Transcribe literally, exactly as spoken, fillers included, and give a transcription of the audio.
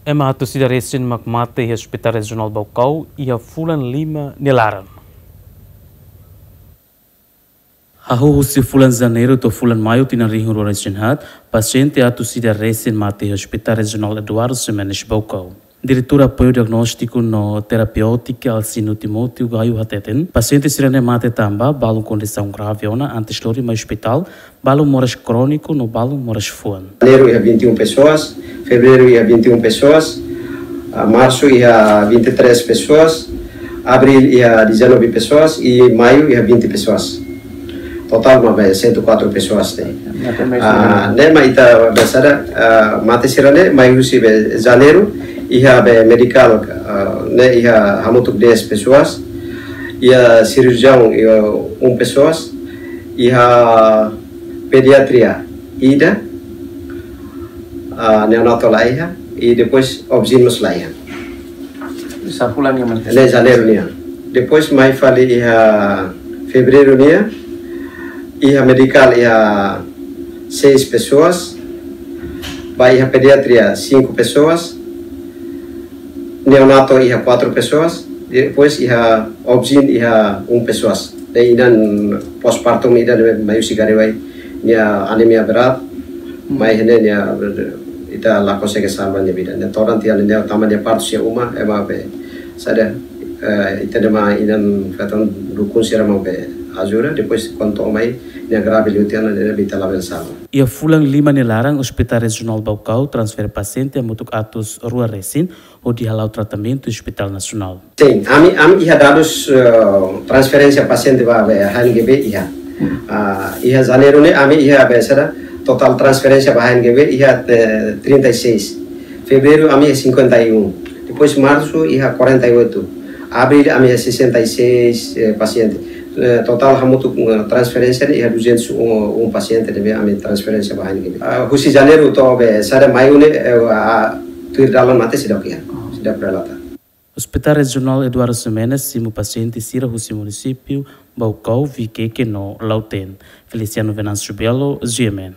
Ema atus ida resin mak mate iha Hospital Rejionál Baucau iha fulan lima nia laran. Hahú husi fulan Janeiru to'o fulan Maiu tinan rihun rua resin haat, pasiente atus ida resin mate iha Hospital Rejionál Eduardo Ximenes Baucau. Diretór Apoiu Diagnóstiku no Terapêutika Alcino Timóteo Gaio hateten, pasiente sira-ne'e mate tanba balun kondisaun grave ona antes lori mai ospitál, balun moras króniku no balun moras fuan. Janeiro iha vinte e um pessoas, fevereiro iha vinte e um pessoas, ah, março iha vinte e três pessoas, abril iha dezanove pessoas e maio iha vinte pessoas. Total mak be cento e quatro pessoas ne'e. Ne'e mak ita be sada, ah, mate sira-ne'e mai husi be Janeiru iha be medikál, ah, ne'e iha hamutuk dez pessoas, iha cirurgião iha um pessoas, iha pediatria ida, ah, neonato la iha, e depois obscen mós la iha. Sá fulan nian mak? Ne'e Janeiru nian. Depois mai fali iha fevereiro nian, iha medikál iha seis pessoas, ba iha pediatria cinco pessoas, neonato iha quatro pessoas, depois iha obscen iha um pessoas. Ne'e inan postpartum ida ne'e mai husi Garewai, nia anemia berat, mai ne'e nia ita la konsege salva nia vida. Ne'e todan tiha ne'e tanba nia partu iha uma, ema be sada, eh, ita-nia inan feton dukun sira mak be ajuda, depois kuandu mai nia grave liu tiha ne'e be ita labele salva. Iha fulan lima nia laran, Hospital Rejionál Baucau transfere pasiente hamutuk atus rua resin hodi hala'o tratamentu Hospital Nasionál. Sin, ami, ami iha dadus, eh, transferénsia pasiente ba be H N G B iha. Ah, iha Janeiru ne'e ami iha be sada, totál transferénsia ba H N G B iha, eh, trinta e seis. Fevereiro ami iha cinquenta e um. Depois março iha quarenta e oito. Abril ami iha sessenta e seis, eh, pasiente. Eh, totál hamutuk, eh, transferénsia ne'e iha duzentos e um pasiente ne'ebé ami transferénsia ba H N G B. Ah, husi Janeiru to'o be sada Maiu ne'e, eh, ah, tuir dalan mate seidauk iha. Seidauk relata. Hospital Rejionál Eduardo Ximenes simu pasiente sira husi munisípiu Baucau, Viqueque no Lautém. Feliciano Venâncio Belo, G M N.